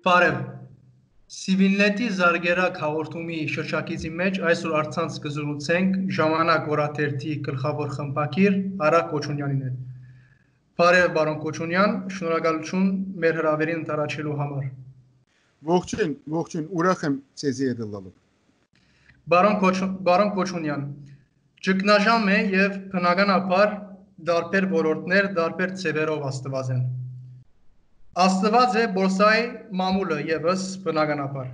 Բարև, Սիվիլնետի զարգերակ հաղորդումի շրջակիցի մեջ այսօր առցանց կզրուցենք ժամանակ օրաթերթի գլխավոր խմբագիր Արաք Կոչունյանին հետ։ Բարև բարոն Կոչունյան, շնորհակալություն մեր հրավերին ընթരാչելու համար։ Ողջույն, ուրախ եմ ցեզի հետ լալու։ Բարոն Կոչունյան, ճգնաժամ է եւ բնականաբար դարբեր ոլորտներ, դարբեր ծևերով աստված են։ Աստված է բորսայի մամուլը եւս բնականաբար։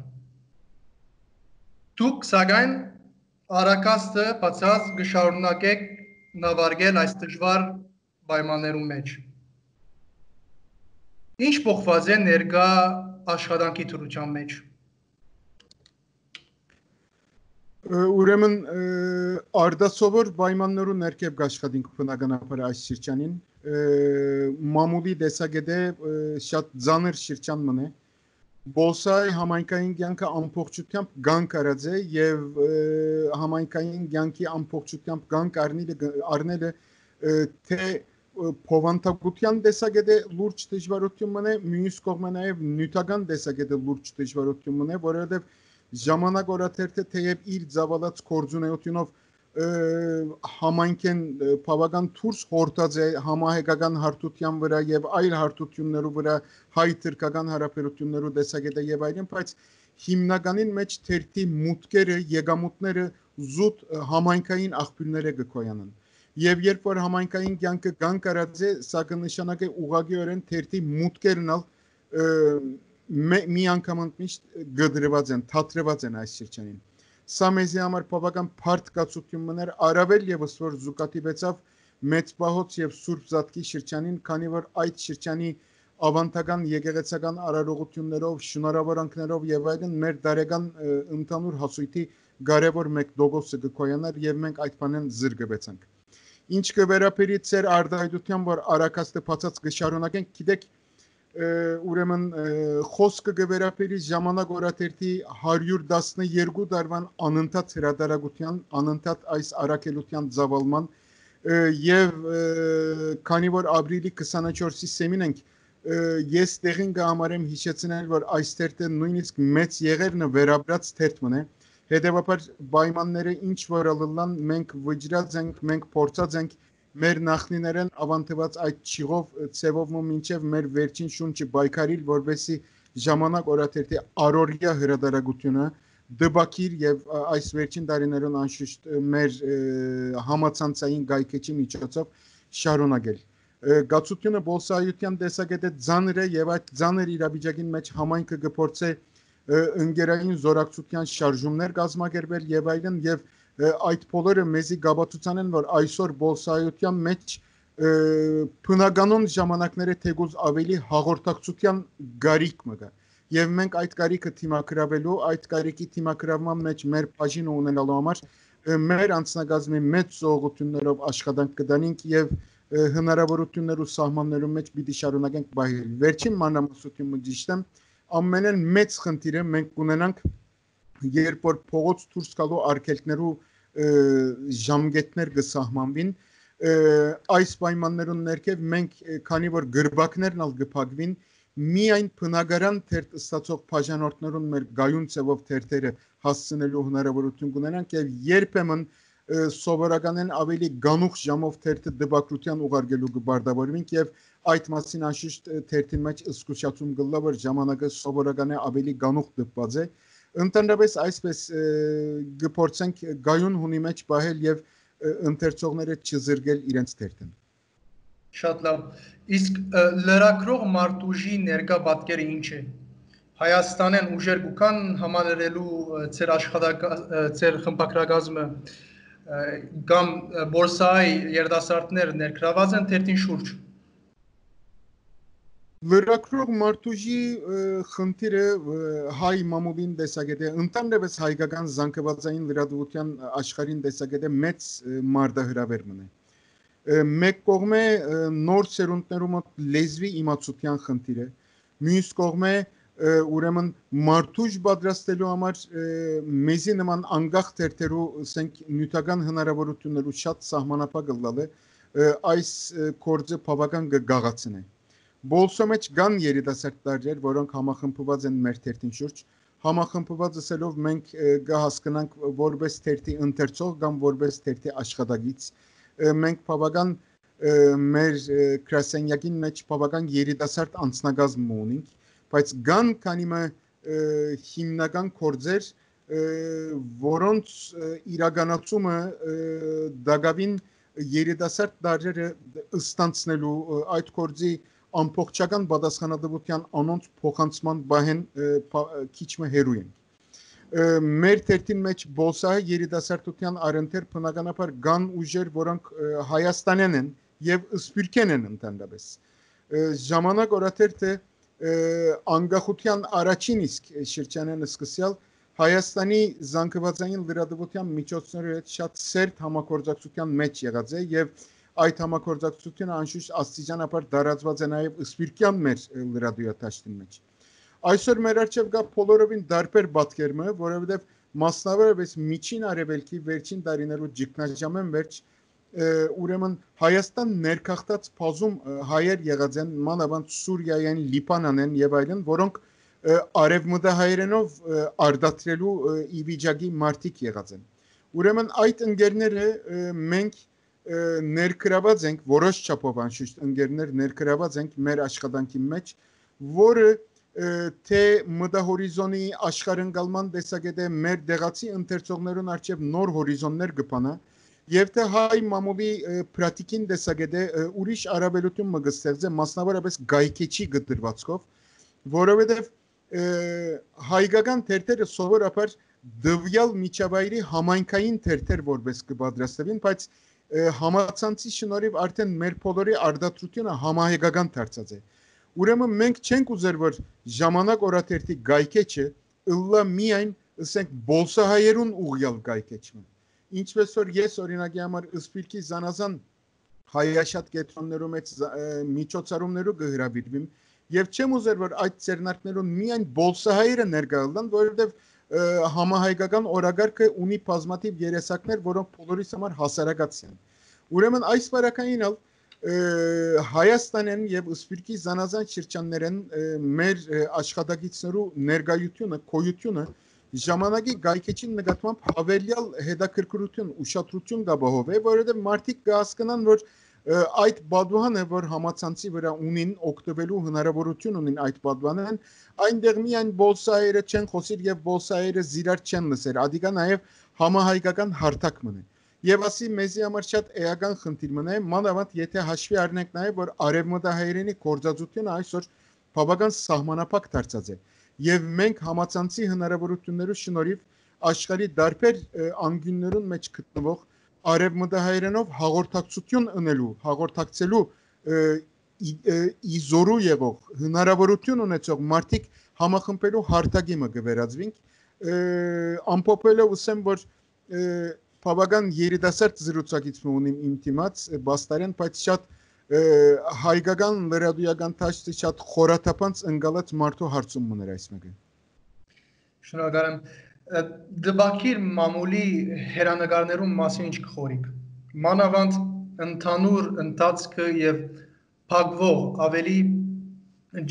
Դուք սակայն արակաստը բացած կշարունակեք նավարկել այս դժվար պայմաններում մեջ։ Ինչ փոխված է ներկա աշխատանքի դրության մեջ։ Ուրեմն արդասովոր պայմաններու ներքև աշխատենք բնականաբար այս շրջանին մամուլի դեսագետը շատ ծանր շրջան մնե Բոլսայի համայնքային կյանքը ամբողջությամբ գանք արած է եւ համայնքային կյանքի ամբողջությամբ գանք առնելը թե փոխանցության դեսագետը լուրջ դժվարություն մնե մյուս կողմը նաեւ նյութական դեսագետը լուրջ դժվարություն մնե որովհետեւ ժամանակ օրաթերթը թեև իր զավալած կորձունեությունով համայնքեն բավական թուրս հորտած է համահայկական հարթության վրա եւ այլ հարթություններու վրա հայ-թուրքական հարաբերություններու դեսագետը եւ այլն, բայց հիմնականին մեջ թերթի մուտքերը, եկամուտները զուտ համայնքային աղբյուրները կկոյանան։ Եվ երբ որ համայնքային կյանքը կանգ առած է, սա կնշանակե ուղղակիորեն թերթի մուտքերն մի անգամ միշտ գդրված են, թատրված են այս շրջանին։ Սա մեզի համար բավական բարդ կացություն մներ առավել եւս որ զուգատիվեցավ մեծ պահոց եւ Սուրբ Զատկի շրջանին, քանի որ այդ շրջանի ավանդական եկեղեցական արարողություններով, շնորհավորանքներով եւ այլն մեր դարեգան ընդհանուր հասույթի կարևոր մեկ դոգոսը կկոյանար եւ մենք այդ բանեն զրկվեցանք։ Ինչ կվերապերի ծեր արդայդության որ արակաստը բացած կշարունակենք, գիտեք ուրեմն խոսքը կվերապերի ժամանակ օրաթերթի 112 տարվան անընդհատ հրատարակության, անընդհատ այս առաքելության ծավալման եւ քանի որ ապրիլի 24-ի սեմին ենք ես տեղին կհամարեմ հիշեցնել որ այս թերթը նույնիսկ մեծ եղերնը վերաբրած թերթ մնե հետեւաբար պայմանները ինչ որ ալլան մենք վճռած ենք, մենք փորձած ենք մեր նախնիներեն ավանդված այդ ճիղով ցևով մինչև մեր վերջին շունչը բայկարիլ որովհետեւ ժամանակ օրաթերթի առօրյա հրատարակությունը դբակիր եւ այս վերջին տարիներուն անշուշտ մեր համացանցային գայքեչի միջոցով շարունակել գացությունը բոլսայության տեսակետը ծանր է եւ այդ ծանր իրավիճակին մեջ համայնքը կփորձե ընկերային զորակցության շարժումներ կազմակերպել եւ այլն եւ այդ բոլորը մեզի գաբացուցան են որ այսօր բոլսայության մեջ բնականon ժամանակները թեկուզ ավելի հաղորդակցության գարիք մը կա եւ մենք այդ գարիքը թիմակրավելու այդ գարիկի թիմակրավման մեջ մեր բաժինը ունենալու համար մեր անձնագազմի մեծ զողություններով աշխատանք կդանենք եւ հնարավորություններ ու սահմաններու մեջ պիտի շարունակենք բայել վերջին մանրամասնությունը ճիշտ է ամենեն մեծ խնդիրը մենք ունենանք երբ որ փողոց դուրս գալու արգելքներու ժամկետներ կսահմանվին այս պայմաններուն ներքև մենք քանի որ գրբակներն ալ կփակվին միայն բնակարան թերթ ստացող բաժանորդներուն մեր գայուն ծևով թերթերը հասցնելու հնարավորություն կունենանք եւ երբեմն սովորականեն ավելի գանուխ ժամով թերթը դպակրության ուղարկելու կբարդավորվենք եւ այդ մասին անշուշտ թերթին մեջ զսկուշացում կլա որ ժամանակը սովորական է ավելի գանուխ դպված է ընդհանրապես այսպես կփորձենք գայուն հունի մեջ պահել եւ ընթերցողները չզրկել իրենց թերթին Շատ լավ իսկ լրակրող մարտուժի ներկա պատկերը ինչ է Հայաստանեն ուժեր կան համալրելու ծեր խմբակրագազմը կամ բորսայի երդասարտներ ներգրաված են թերթին շուրջ Լրակրող մարտուժի խնդիրը հայ մամուլին տեսակետը ընդհանրապես հայկական զանգվածային լրատվության աշխարհին տեսակետը մեծ մարտահրավեր մնե մեկ կողմը նոր սերունդներու մոտ լեզվի իմացության խնդիրը մյուս կողմը ուրեմն մարտուժ պատրաստելու համար մեզի նման անգախ թերթերու ասենք նյութական հնարավորություններու շատ սահմանափակ լալ է այս կորձը բավական գաղացն է Բոլսո մեջ կան երիտասարդ տարրեր, որոնք համախմբված են մեր թերթին շուրջ, համախմբված ասելով մենք կհասկանանք որպես թերթի ընթերցող կամ որպես թերթի աշխատագից, մենք բավական մեր գրասենյակին մեջ բավական երիտասարդ անձնագազմ ունենք, բայց կան քանի մը հիմնական գործեր, որոնց իրականացումը դակավին երիտասարդ տարրերը ստանցնելու այդ գործի ամբողջական պատասխանատվության անոնց փոխանցման բահեն քիչ մը հերու են։ Մեր թերթին մեջ բոլսահը երիտասարդության առընթեր բնականաբար կան ուժեր, որոնք Հայաստանյան են եւ սփյուռքեն են ընդհանրապես։ Ժամանակ օրաթերթը անկախության առաջին իսկ շրջանեն սկսյալ Հայաստանի զանգվածային լրատվության միջոցների հետ շատ սերտ համագործակցության մեջ եղած է եւ այդ համագործակցությունը անշուշտ աստիճանաբար դարածված է նաեւ սփյուռքյան մեր լրատվության մեջ։ Այսօր մեր արժեվ կա բոլորովին դարբեր պատկերմը, որովհետեւ մասնավորապես միջին արևելքի վերջին տարիներու ճգնաժամեն վերջ ուրեմն Հայաստան ներքախտած բազում հայեր եղած են, մանավանդ Սուրիայեն, Լիբանանեն եւ այլն, որոնք արևմտահայերենով արդատրելու իվիճակի մարտիկ եղած են։ Ուրեմն այդ ընկերները մենք ներգրաված ենք որոշ չափով անշուշտ ընկերներ ներգրաված ենք մեր աշխատանքի մեջ, որը թե մտահորիզոնի աշխարհընկալման տեսակետը մեր դեղացի ընթերցողներուն արժև նոր հորիզոններ կփանա եւ թե հայ մամուլի պրակտիկին տեսակետը ուրիշ արաբելություն մը կստեղծե մասնավորապես գայքեչի գդրվածքով, որովհետեւ հայկական թերթերը սովորաբար դվյալ միջավայրի համայնքային թերթեր որպես կպատրաստվին, բայց համացանցի շնորհիվ արդեն մեր բոլորի արդատրությունը համահայկական դարձած է։ Ուրեմն մենք չենք ուզեր որ ժամանակ օրաթերթի գայքեչը ըլլա միայն ասենք բոլսահայերուն ուղյալ գայքեչը։ Ինչպես որ ես օրինակի համար սփյուռքի զանազան հայաշատ կետրոններու մեջ միջոցառումներու կհրավիրվիմ եւ չեմ ուզեր որ այդ ցերնակներուն միայն բոլսահայերը ներկայացնեն, որովհետեւ համահայկական օրագարկը ունի բազմաթիվ երեսակներ, որոնք բոլորիս համար հասարակած են։ Ուրեմն այս վարակայինալ Հայաստանեն եւ սփյուռքի զանազան շրջաններեն մեր աշխատակիցներու ներկայությունը, կոյությունը ժամանակի գայքեչին նկատմամբ հավելյալ հետաքրքրություն, ուշադրություն կապահովե, որովհետեւ մարդիկ կհասկանան, որ այդ բադուհանը, որ համացանցի վրա ունին օգտվելու հնարավորություն ունին այդ բադուհանեն, այնտեղ միայն բոլսահայերը չեն խոսիր եւ բոլսահայերը զիրար չեն լսեր, ադիգա նաեւ համահայկական հարթակ մնե։ Եվ ասի մեզի համար շատ էական խնդիր մնա, մանավանդ եթե հաշվի առնենք նաեւ որ արևմտահայերենի գործածությունը այսօր բավական սահմանափակ դարձած է։ Եվ մենք համացանցի հնարավորություններու շնորհիվ աշխարհի դարբեր անկյուններուն մեջ գտնվող արևմտահայերենով հաղորդակցություն ունելու, հաղորդակցելու իզորու եղող հնարավորություն ունեցող մարդիկ համախմբելու հարթակի մը կվերածվենք ամփոփելով ասեմ որ բավական երիտասարդ զրուցակից ունիմ իմ թիմած բաստարեն բայց շատ հայկական լրատվական տաշտի շատ խորաթափանց ընկալած մարդու հարցում մներ այս մեկը։ Շնորհակալ եմ։ Դբակիր մամուլի հերանեկարներում մասին ինչ կխորիկ։ Մանավանդ ընդհանուր ընթացքը եւ փակվող ավելի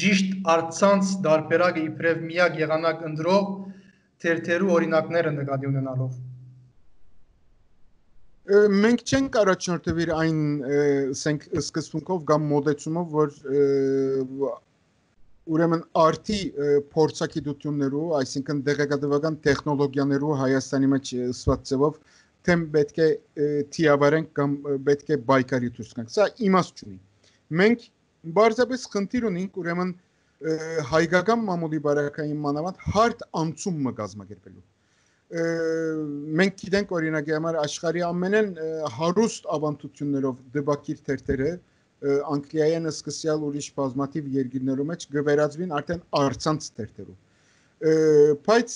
ճիշտ արցանց դարբերակը իբրև միակ եղանակ ընդրող թերթերու օրինակները նկատի ունենալով։ Մենք չենք առաջնորդվիր այն ասենք սկզբունքով կամ մոդեցումով որ ուրեմն արդի փորձագիտություններու, այսինքն դեղեկատվական տեխնոլոգիաներու Հայաստանի մեջ ստված ձևով թեմ պետք է թիավարենք կամ պետք է բայկարի դուրս գանք։ Սա իմաստ չունի։ Մենք բարձրապես խնդիր ունենք ուրեմն հայկական մամուլի բարակային մանավանդ հարթ անցում մը կազմակերպելու։ Մենք գիտենք օրինակի համար աշխարհի ամենեն հարուստ ավանդություններով դեպակիր թերթերը Անգլիայեն սկսյալ ուրիշ բազմաթիվ երկիրներու մեջ գվերածվին արդեն արցանց թերթերու։ Բայց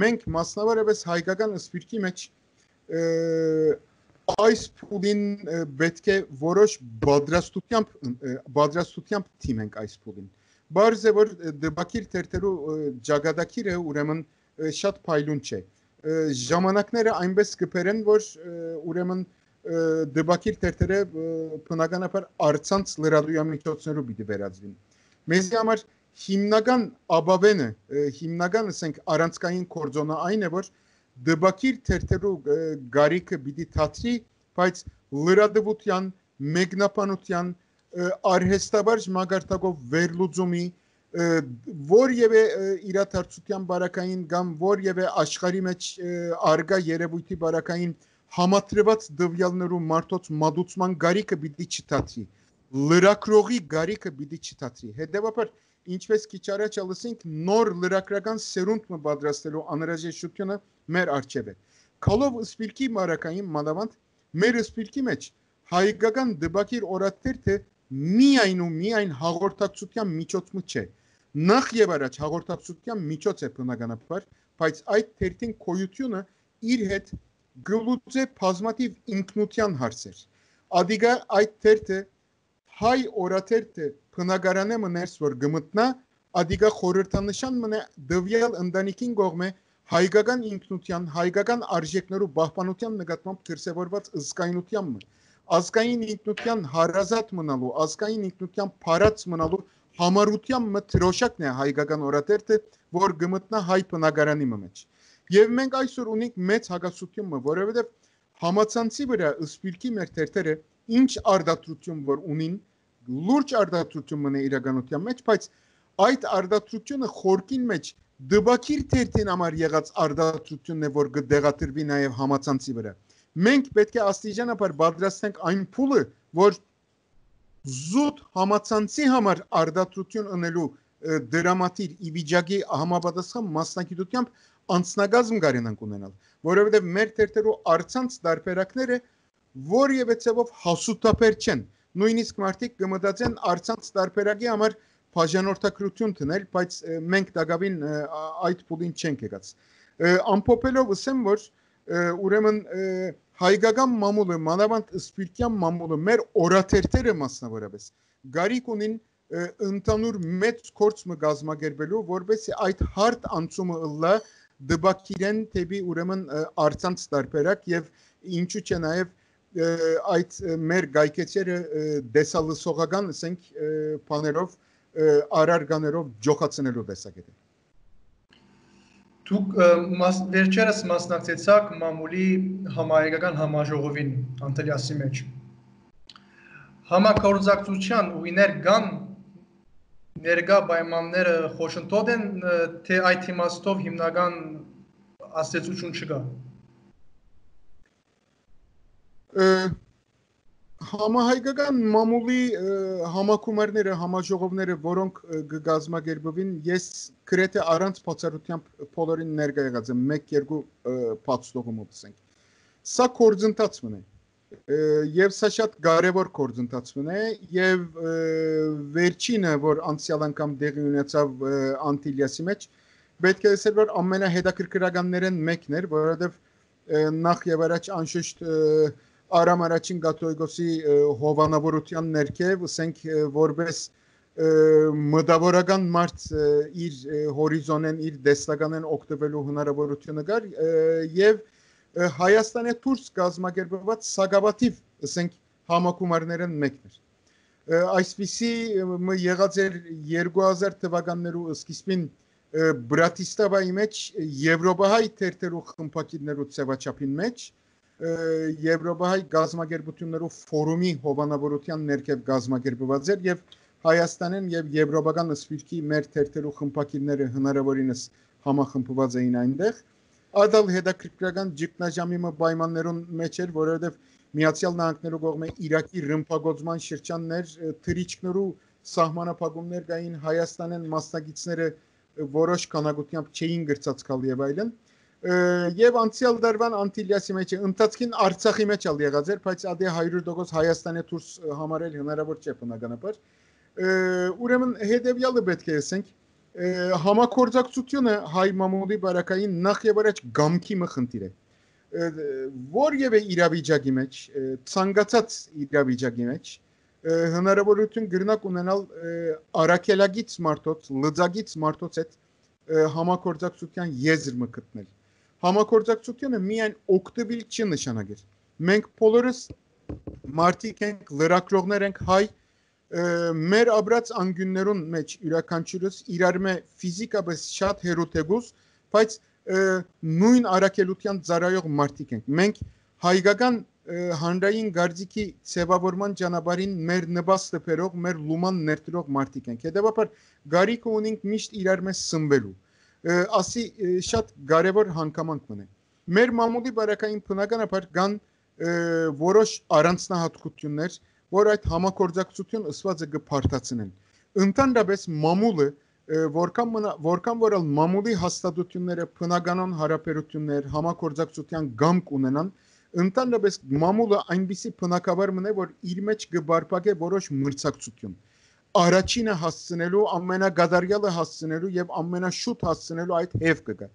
մենք մասնավորապես հայկական սփյուռքի մեջ այս փուլին պետք է որոշ բادرաստությամբ թիմենք այս փուլին։ Բարձ է որ դեպակիր թերթերու ճակատագիրը ուրեմն շատ փայլուն չէ։ Ժամանակները այնպես կփերեն որ ուրեմն դեպակիր թերթերը բնականաբար առցանց լրատվամիջոցներով պիտի վերածվին։ Մեզի համար հիմնական աբավենը, հիմնական ասենք առանցքային կորձոնը այն է, որ դեպակիր թերթերու գարիքը պիտի թատրի, բայց լրատվության, մեկնաբանության, արհեստաբար մագարտակով վերլուծումի, որևէ իրադարձության բարակային կամ որևէ աշխարհի մեջ արգա երևույթի բարակային համատրված դվյալներու մարդոց մատուցման գարիքը պիտի չթատրի, լրակրողի գարիքը պիտի չթատրի։ Հետևաբար, ինչպես քիչ առաջ ասենք, նոր լրագրական սերունդ մը պատրաստելու անհրաժեշտությունը մեր առջև է։ Քալով սպիրկի բարակային մանավանդ մեր սպիրկի մեջ հայկական դեպակիր օրաթերթը միայն ու միայն հաղորդակցության միջոցը չէ։ Նախ եւ առաջ հաղորդակցության միջոց է բնականաբար, բայց այդ թերթին կոյությունը իր հետ գլուծե բազմաթիվ ինքնության հարցեր։ Ադիգա այդ թերթը հայ օրաթերթը բնակարանը մներս որ գմտնա, ադիգա խորհրդանշան մնա դվյալ ընտանիքին կողմէ հայկական ինքնության, հայկական արժեքներու պահպանության նկատմամբ դրսևորված ըսկայնության մը, ազգային ինքնության հարազատ մնալու, ազգային ինքնության փարած մնալու համառության մը թրոշակն է հայկական օրաթերթը, որ գմտնա հայ բնակարանի մեջ։ Եվ մենք այսօր ունենք մեծ հակասություն, որովհետև համացանցի վրա սպիրկի մեր թերթերը ինչ արդարություն որ ունին, լուրջ արդարություն մնա իրականության մեջ, բայց այդ արդարությունը խորքին մեջ դեպակիր թերթին համար եղած արդարությունն է, որ կդեղատրվի նաև համացանցի վրա։ Մենք պետք է աստիճանաբար պատրաստենք այն փուլը, որ զուտ համացանցի համար արդարություն ունելու դրամատիր իվիճակի համապատասխան մասնագիտությամբ անձնագազմ կարենանք ունենալ, որովհետև մեր թերթերու առցանց տարբերակները որևէ ցավով հասուտապեր չեն, նույնիսկ մարդիկ կմտածեն առցանց տարբերակի համար բաժանորդագրություն տնել, բայց մենք դակավին այդ փուլին չենք եկած։ Ամփոփելով ասեմ, որ ուրեմն հայկական մամուլը, մանավանդ սպիրկյան մամուլը, մեր օրաթերթերը մասնավորապես գարիք ունին ընդհանուր մեծ կորց մը գազմագերբելու, որովհետեւ այդ հարթ անցումը ըլլա դեպակիրեն թեպի ուրեմն առցանց տարբերակ եւ ինչու՞ չէ նաեւ այդ մեր գայքեչերը դեսալսողական ասենք բաներով արարգաներով ջոխացնելու տեսակետը։ Դուք վերջերս մասնակցեցաք մամուլի համահայկական համաժողովին Անտելիասի մեջ։ Համակորձակցության ուղիներ կան, ներկա պայմանները խոշնտոտ են, թե այդ իմաստով հիմնական աստեցություն չկա։ Համահայկական մամուլի համակումարները, համաժողովները, որոնք կգազմագերբվին, ես գրեթե առանց բացառությամբ բոլորին ներկա եղած եմ, 1-2 բացթողումով ասենք։ Սա կորձընթաց մնա եւ սա շատ կարեւոր կորձընթաց մնա եւ վերջինը, որ անցյալ անգամ դեղի ունեցավ Անտիլիասի մեջ, պետք է ասել, որ ամենահետաքրքրականներն մեկն էր, որովհետեւ նախ եւ առաջ անշուշտ Արամ առաջին կաթողիկոսի հովանավորության ներքև, ասենք որպես մտավորական մարդ իր հորիզոնեն, իր դեստականեն օգտվելու հնարավորությունը կար եւ Հայաստանի դուրս կազմակերպված սակավաթիվ, ասենք համակումարներն մեկն էր։ Այսպիսի եղած էր 2000 թվականներու սկիզբին Բրատիսլավայի մեջ Եվրոպահայ թերթերու խմբակիրներու ծավաչափին մեջ Եվրոպահայ գազམ་ագերբություններով ֆորումի հովանավորության ներքև գազམ་ագերբված էր եւ Հայաստանեն եւ եվրոպական սպիրկի մեր թերթերու խմբակիրները հնարավորինս համախմբված էին այնտեղ։ Ադալ հետաքրքրական ճգնաժամի պայմաններուն մեջ էր, որովհետեւ Միացյալ Նահանգներու կողմէ Իրաքի ռմբակոծման շրջաններ, թրիչքներու սահմանափակումներ կային, Հայաստանեն մասնակիցները որոշ քանակությամբ չէին գրծածկալ եւ այլն։ Եվ անցյալ դարվան Անտիլիասի մեջ ընթացքին Արցախի մեջ ալ եղած էր, բայց ադե 100% Հայաստանի դուրս համարել հնարավոր չէ բնականաբար։ Ուրեմն հետեւյալը պետք է ասենք, համակորձակցությունը հայ մամուլի բարակային նախ եւ առաջ գամքի մխնդիր է։ Որևէ իրավիճակի մեջ, ցանկացած իրավիճակի մեջ հնարավորություն գրնակ ունենալ արաքելագից մարդոց, լծագից մարդոց հետ համակորձակցության եզր մը գտնել։ Համակորձակցությունը միայն օգտվել չի նշանակել։ մենք բոլորս մարդիկ ենք, լրագրողներ ենք, հայ, մեր ապրած անգյուններուն մեջ յուրաքանչյուրս իրար մե ֆիզիկապես շատ հերոթեգուս, բայց նույն արակելության ծառայող մարդիկ ենք։ Մենք հայկական հանրային գարձիկի ձևավորման ճանապարհին մեր նպաստը բերող, մեր լուման ներդրող մարդիկ ենք։ Հետևաբար գարիք ունենք միշտ իրար մեջ սնվելու։ Ասի շատ կարևոր հանգամանք մնե։ Մեր մամուլի բարակային բնականաբար կան որոշ առանձնահատկություններ, որ այդ համագործակցություն ըսվածը կփարթացնեն։ Ընդհանրապես մամուլը որքան որ մամուլի հաստատությունները բնականon հարաբերություններ, համագործակցության գամք ունենան, ընդհանրապես մամուլը այնպիսի բնակավար մնե, որ իր մեջ կբարբակե որոշ մրցակցություն։ Առաջինը հասցնելու, ամենագադարյալը հասցնելու եւ ամենաշուտ հասցնելու այդ հեվ կգա։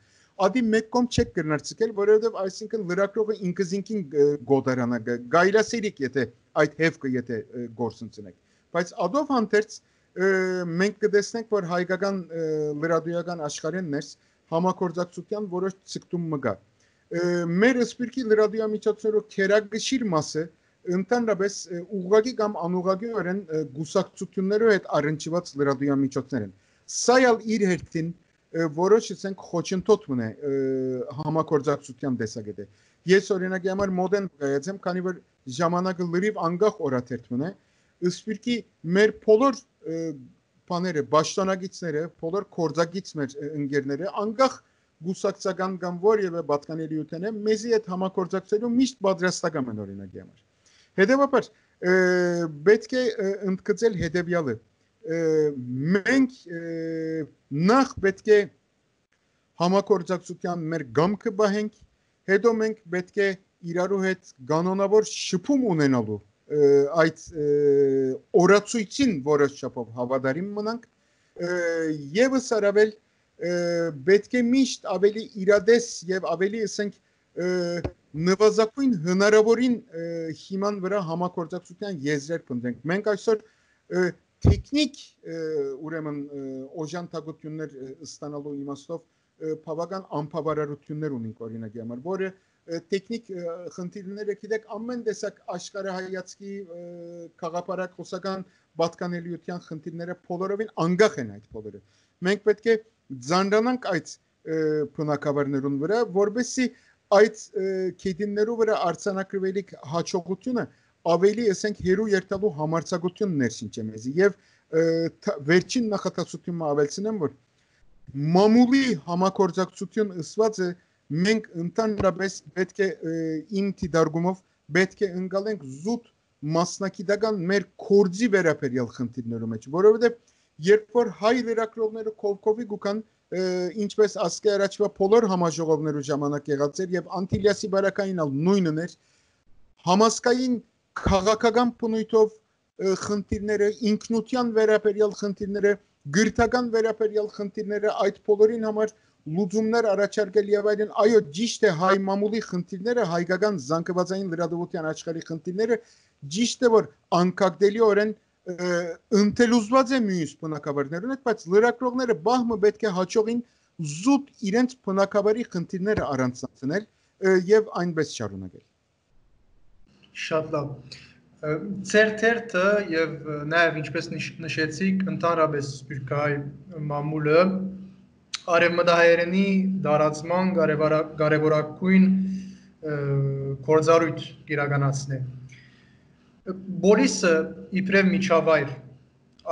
Ադի մեկ կողմ չեք կրնարցկել, որովհետեւ այսինքն լրագրողը ինքզինքին գոդարանա գայլասերիկ եթե այդ հեվը եթե գործընծնեք։ Բայց ադով հանդերձ մենք կտեսնենք, որ հայկական լրատվական աշխարհին ներս համագործակցության որոշ ցկտում մգա։ Մեր սպիրկի լրատվամիջոցներով քերագշիր մասը ընդհանրապես ուղղակի կամ անուղղակիորեն գուսակցություններով հետ առնչված լրատվամիջոցներ են։ Սա ալ իր հերթին որոշ ասենք խոչընդոտ մնե համագործակցության տեսակետը։ Ես օրինակի համար մոդեն կայացեմ, քանի որ ժամանակը լրիվ անգախ օրաթերթ մնե, սպիրկի մեր բոլոր բաները, պաշտոնագետները, բոլոր կորձագից մեր ընկերները անգախ գուսակցական կամ որևէ պատկանելիություն է, մեզի այդ համագործակցելու միշտ պատրաստական են օրինակի համար։ Հետևաբար պետք է ընդգծել հետևյալը։ Մենք նախ պետք է համագործակցության մեր գամքը բահենք, հետո մենք պետք է իրարու հետ կանոնավոր շփում ունենալու այդ օրացույցին որոշ չափով հավատարիմ մնանք եւս արավել պետք է միշտ ավելի իրադես եւ ավելի ասենք նվազագույն հնարավորին հիման վրա համագործակցության եզրեր փնտրենք։ Մենք այսօր տեխնիկ ուրեմն օժանդակություններ ստանալու իմաստով բավական անբավարարություններ ունենք օրինակի համար, որը տեխնիկ խնդիրները գիտեք ամեն տեսակ աշխարհայացքի քաղաքապարակոսական պատկանելիության խնդիրները բոլորովին անգախ են այդ բոլորը։ Մենք պետք է ձանրանանք այդ բնակավարներուն վրա, որովհետեւ այդ քեդիններու վրա արցանակրվելիք հաջողությունը ավելի ասենք հերու երթալու համարձակություն ներշինչ է մեզի եւ վերջին նախատեսությունը ավելցնեմ, որ մամուլի համագործակցություն ըսվածը մենք ընդհանրապես պետք է իմ դիտարկումով պետք է ընկալենք զուտ մասնակիտական մեր կորձի վերաբերյալ խնդիրներու մեջ, որովհետեւ երբ որ հայ լրագրողները կովկովի գուքան ինչպես ասկե առաջվա բոլոր համաժողովներու ժամանակ եղած էր եւ Անտիլիասի բարակային ալ նույնն էր համասկային քաղաքական բնույթով խնդիրները ինքնության վերաբերյալ խնդիրները գրթական վերաբերյալ խնդիրները այդ բոլորին համար լուծումներ առաջարկել եւ այլն այո ճիշտ է հայ մամուլի խնդիրները հայկական զանգվածային լրատվության աշխարհի խնդիրները ճիշտ է որ անկագդելիորեն ընթելուզված է մյուս բնակավարներուն հետ, բայց լրագրողները բահմը պետք է հաջողին զուտ իրենց բնակավարի խնդիրները առանձնացնել եւ այնպես շարունակել։ Շատ լավ։ Ձեր թերթը եւ նաեւ ինչպես նշեցիք, ընդհանրապես սպիրկահայ մամուլը արևմտահայերենի դարացման կարևորագույն գործառույթ իրականացնե։ Բորիսը իբրև միջավայր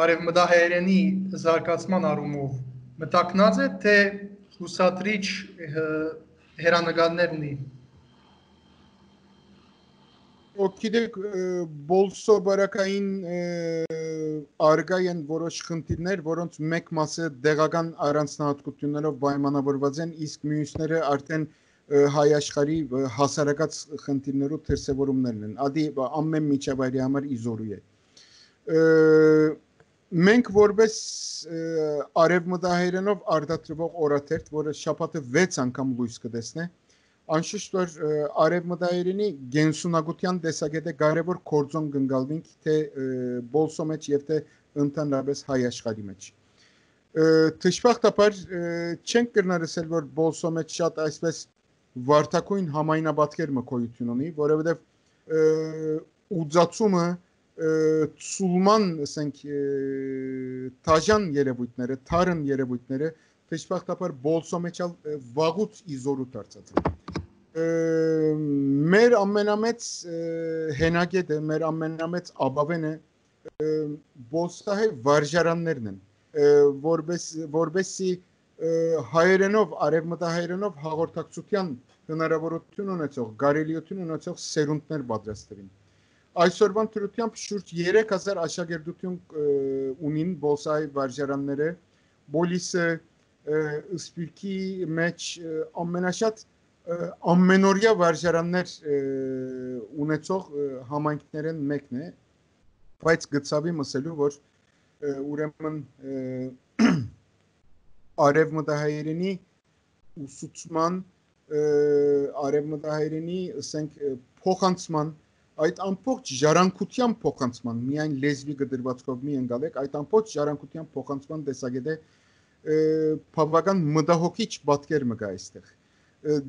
արևմտահայերենի զարգացման առումով մտակնած է թե հուսադրիչ հերանեկարներ ունի։ Գիտեք բոլսո բարակային արգա են որոշ խնդիրներ, որոնց մեկ մասը դեղական առանձնահատկություններով պայմանավորված են, իսկ մյուսները արդեն հայ աշխարհի հասարակած խնդիրներով դրսևորումներն են։ Ադի ամեն միջավայրի համար իզորու է։ Մենք որպես արևմտահայերենով արտադրվող օրաթերթ, որը շաբաթը 6 անգամ լույս կտեսնե, անշուշտ որ արևմտահայերենի գենսունակության տեսակետը կարևոր կորձոն կընկալվենք թե բոլսո մեջ եւ թե ընդհանրապես հայ աշխարհի մեջ։ Դժբախտաբար չենք կրնարսել որ բոլսո մեջ շատ այսպես վարտակույն համայնապատկեր մկոյություն ունի, որովհետեւ ուծացումը ցուլման ասենք տաժան երևույթները, թարն երևույթները դժբախտաբար բոլսոմեչալ վաղուց իզորու դարձած են։ Մեր ամենամեծ հենագետը, մեր ամենամեծ ապավենը բոլսահե վարժարաններն են, որբեսի հայերենով, արևմտահայերենով հաղորդակցության հնարավորություն ունեցող, կարելիություն ունեցող սերունդներ պատրաստվին։ Այսօրվան դրությամբ շուրջ 3000 աշակերտություն ունին բոլսահե վարժարանները, բոլիսը սպիրկի մեջ ամենաշատ ամենօրյա վարժարաններ ունեցող համայնքներն մեկն է, բայց գծավի մսելու, որ ուրեմն արևմտահայերենի ուսուցման, արևմտահայերենի ասենք փոխանցման, այդ ամբողջ ժառանգության փոխանցման, միայն լեզվի գդրվածքով մի ընկալեք, այդ ամբողջ ժառանգության փոխանցման տեսակետը բավական մտահոգիչ պատկեր մը կա այստեղ։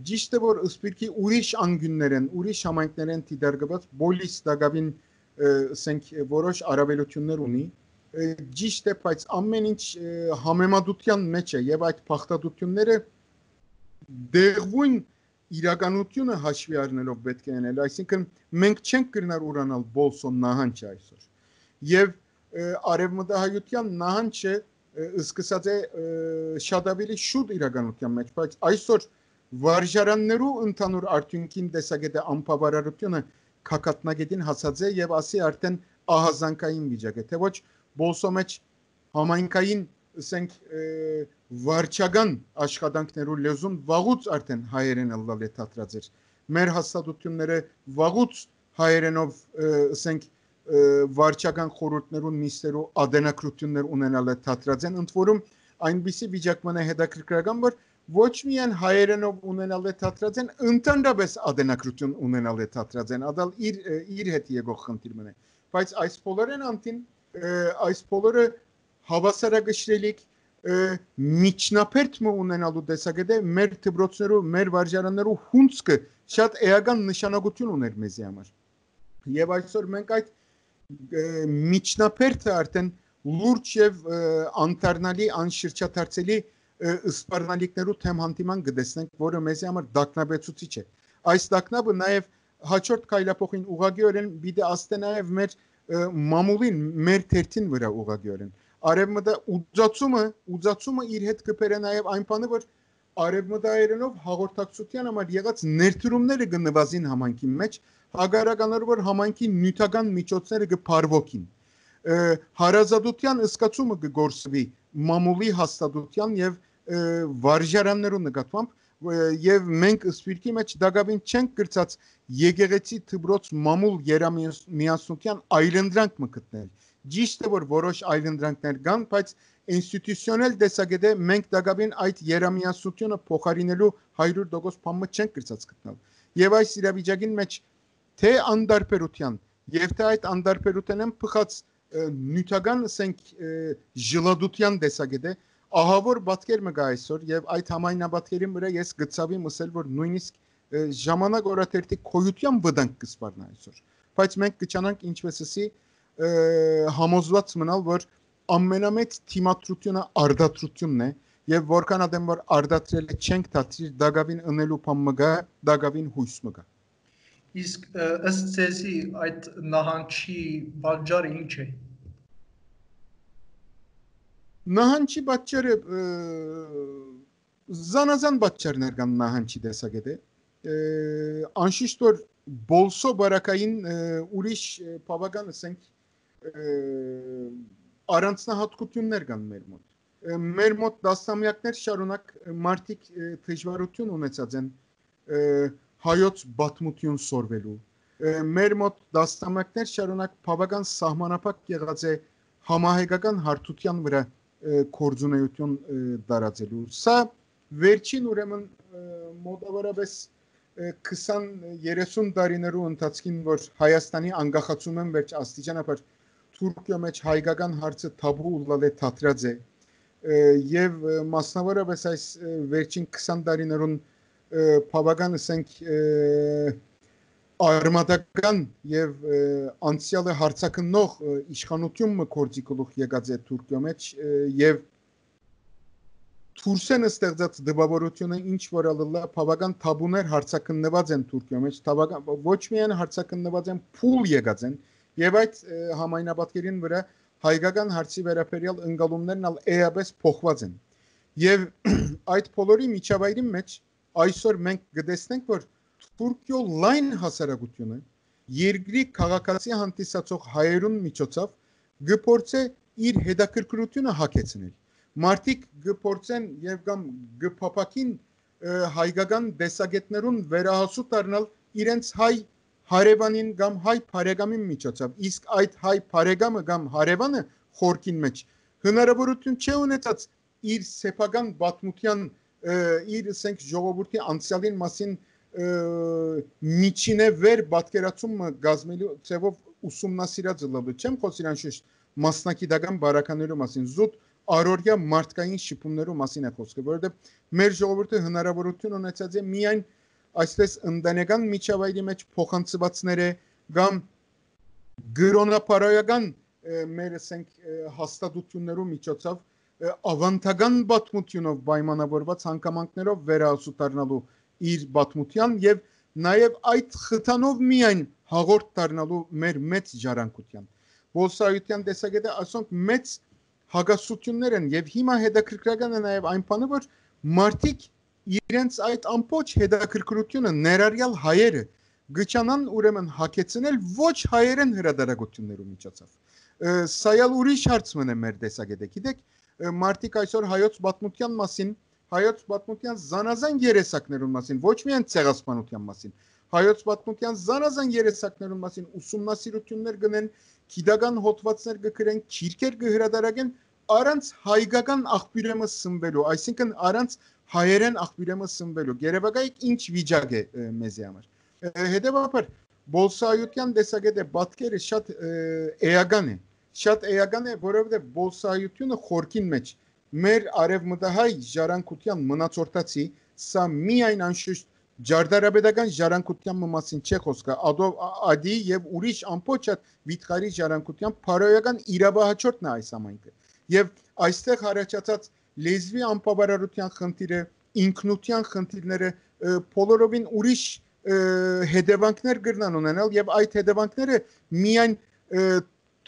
Ճիշտ է, որ սպիրկի ուրիշ անգյուններ են, ուրիշ համայնքներ են դիտարկված, բոլիս դակավին ասենք որոշ առավելություններ ունի, ճիշտ է, բայց ամեն ինչ համեմատության մեջ է եւ այդ փախտատությունները դեղույն իրականությունը հաշվի առնելով պետք է անել, այսինքն մենք չենք կրնար ուրանալ բոլսոն նահանջը այսօր եւ արևմտահայության նահանջը սկսած է շատ ավելի շուտ իրականության մեջ, բայց այսօր վարժարաններու ընդհանուր արդյունքին տեսակետը անբավարարությունը քակատնագետին հասած է եւ ասի արդեն ահազանգային վիճակ է, թե ոչ բոլսո մեջ համայնքային ասենք վարչական աշխատանքներու լեզուն վաղուց արդեն հայերեն ըլլալ է թատրած էր։ Մեր հաստատությունները վաղուց հայերենով ասենք վարչական խորհուրդներուն նիստերու ադենակրություններ ունենալ է թատրած են, ընդ որում այնպիսի վիճակ մնա հետաքրքրական, որ ոչ միայն հայերենով ունենալ է թատրած են, ընդհանրապես ադենակրություն ունենալ է թատրած են, ադալ իր հետ եկող խնդիր մնա։ Բայց այս բոլորեն անտին, այս բոլորը հավասարակշռելիք միջնապերտ մը ունենալու տեսակետը մեր դպրոցներու, մեր վարժարաններու հունցքը շատ էական նշանակություն ուներ մեզի համար։ Եվ այսօր մենք այդ միջնապերտը արդեն լուրջ եւ անտառնալի, անշրջաթարցելի սպառնալիքներու թեմ հանդիման գտեսնենք, որը մեզի համար դակնաբեցուցիչ է։ Այս դակնաբը նաեւ հաջորդ քայլափոխին ուղղակիորեն պիտի աստե նաեւ մեր մամուլին, մեր թերթին վրա ուղղակիորեն։ Արևմտա ուծացումը իր հետ կբերե նաեւ այն բանը, որ արևմտայերենով հաղորդակցության համար եղած ներդրումները կնվազին համայնքի մեջ, հագարականորեն որ համայնքի նյութական միջոցները կփարվոքին։ Հարազատության ըսկացումը կգործվի մամուլի հաստատության եւ վարժարաններու նկատմամբ եւ մենք սպիրկի մեջ դակավին չենք գրծած եկեղեցի դպրոց մամուլ երամիասնության այլընտրանք մը գտնել։ Ճիշտ է, որ որոշ այլընտրանքներ կան, բայց ինստիտուցիոնալ տեսակետը մենք դակավին այդ երամիասնությունը փոխարինելու 100% բանը չենք գրծած գտնել։ Եվ այս իրավիճակին մեջ թե անդարբերության եւ թե այդ անդարբերութենեն փխած նյութական ասենք ժլադության տեսակետը ահավոր պատկեր մը գա այսօր եւ այդ համայնաբատկերի վրա ես գծավի մսել, որ նույնիսկ ժամանակ օրաթերթի քոյության վտանգ կսպառնա այսօր, բայց մենք կճանանք ինչպեսի համոզված մնալ, որ ամենամեծ թիմադրությունը արդատրությունն է եւ որքան ադեմ որ արդատրել չենք դատիր դակավին ընելու բան մգա, դակավին հույս մգա։ Իսկ ըստ ձեզի այդ նահանջի պատճառը ինչ է։ Նահանջի պատճառը զանազան պատճառներ կան նահանջի տեսակետը։ Անշուշտ որ բոլսո բարակային ուրիշ բավական ասենք առանձնահատկություններ կան մեր մոտ։ Մեր մոտ դասամյակներ շարունակ մարդիկ դժվարություն ունեցած են հայոց բաթմություն սորվելու։ Մեր մոտ դասամյակներ շարունակ բավական սահմանափակ եղած է համահայկական հարթության վրա կորձունեություն դարածելու։ Սա վերջին ուրեմն մոտավորապես 20-30 տարիներու ընթացքին, որ Հայաստանի անկախացումն վերջ աստիճանաբար Թուրքիա մեջ հայկական հարցը թաբու ուլալ է թատրած է եւ մասնավորապես այս վերջին 20 տարիներուն բավական ասենք արմատական եւ անցյալը հարցակնող իշխանությունը կորձի գլուխ եկած է Թուրքիո մեջ եւ Թուրքսենը ստեղծած դպավորությունը ինչ որ ալլա բավական թաբուներ հարցակնված են Թուրքիո մեջ, բավական ոչ միայն հարցակնված են, փուլ եկած են եւ այդ համայնապատկերին վրա հայկական հարցի վերաբերյալ ընկալումներն ալ էապես փոխված են։ Եվ այդ բոլորի միջավայրի մեջ այսօր մենք գտեսնենք, որ Թուրքիո լայն հասարակությունը երկրի քաղաքացի հանդիսացող հայերուն միջոցով գործե իր հետաքրքրությունը հագեցնել։ Մարդիկ գործեն եւ կամ գփապակին հայկական դեսագետներուն վերահասու դառնալ իրենց հայ հարևանին կամ հայ բարեկամին միջոցով, իսկ այդ հայ բարեկամը կամ հարևանը խորքին մեջ հնարավորություն չի ունեցած իր սեփական պատմության իր ասենք ժողովրդի անցյալին մասին միջինե վեր պատկերացումը գազմելու ծևով ուսումնասիրած լավ չեմ խոսիր անշուշտ մասնակիտական բարականերու մասին զուտ առօրյա մարդկային շփումներու մասին է խոսքը, որովհետև մեր ժողովուրդը հնարավորություն ունեցած է միայն այսպես ընտանեկան միջավայրի մեջ փոխանցվածները կամ գրոնապարոյական մեր ասենք հաստատություններու միջոցով ավանդական պատմությունով պայմանավորված հանգամանքներով վերահասու դառնալու իր պատմության եւ նաեւ այդ խթանով միայն հաղորդ դառնալու մեր մեծ ժառանգության Բոլսայության տեսակետը ասոնք մեծ հագասություններ են եւ հիմա հետաքրքրական է նաեւ այն բանը որ մարդիկ իրենց այդ ամբողջ հետաքրքրությունը ներառյալ հայերը գճանան ուրեմն հակեցնել ոչ հայերեն հրադարագություններու միջոցով սայալ ուրիշ հարց մնա մեր տեսակետը գիտեք մարդիկ այսօր հայոց պատմության մասին հայոց պատմության զանազան երեսակներուն մասին ոչ միայն ցեղասպանության մասին հայոց պատմության զանազան երեսակներուն մասին ուսումնասիրություններ գնեն գիտական հոդվածներ կգրեն քիրքեր կհրադարագեն առանց հայկական աղբյուրեմը սնվելու այսինքն առանց հայերեն աղբյուրեմը սնվելու երևակայեք ինչ վիճակ է մեզի համար հետևաբար բոլսայության տեսակետը պատկերը շատ էական է որովհետև բոլսայությունը խորքին մեջ մեր արևմտահայ ժառանգության մնացորդացի սա միայն անշուշտ Ջարդարաբեդական ժառանգության մասին չէ խոսքը, ադի եւ ուրիշ ամբողջ վիթխարի ժառանգության փարոյական իրավահաջորդն է այս ամենքը։ Եվ այստեղ առաջացած լեզվի անբավարարության խնդիրը, ինքնության խնդիրները բոլորովին ուրիշ հետևանքներ կրնան ունենալ եւ այդ հետևանքները միայն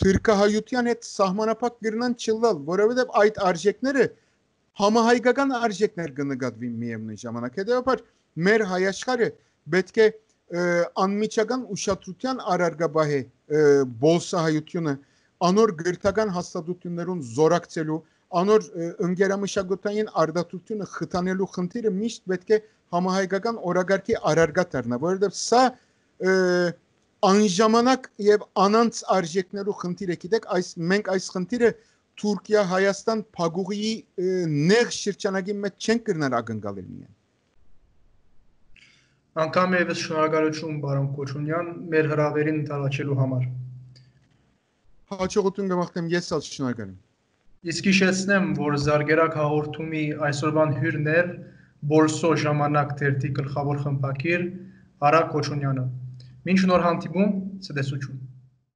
թուրքահայության հետ սահմանափակ կրնան չլալ, որովհետեւ այդ արժեքները համահայկական արժեքներ կնկատվին միևնույն ժամանակ։ Հետեւաբար մեր հայաշխարը պետք է անմիջական ուշադրության առարգաբահե բոլսահայությունը անոր գրթական հաստատություններուն զորակցելու անոր ընկերամշակութային արդարությունը խթանելու խնդիրը միշտ պետք է համահայկական օրագարկի առարգա դառնա որովհետև սա անժամանակ եւ անանց արժեքներու խնդիր է գիտեք մենք այս խնդիրը Թուրքիա Հայաստան փագուղի նեղ շրջանագի մեջ չենք կրնալ ակնկալել միայն Անգամ եւս շնորհակալություն բարոն Կոչունյան մեր հրավերին ընդառաջելու համար Հաջողություն կմաղթեմ ես ալ շնորհակալ եմ Իսկ հիշեցնեմ որ Զարգերակ հաղորդումի այսօրվան հյուրն էր Բոլսո ժամանակ թերթի գլխավոր խմբագիր Արա Կոչունյանը Մինչ նոր հանդիպում ցտեսություն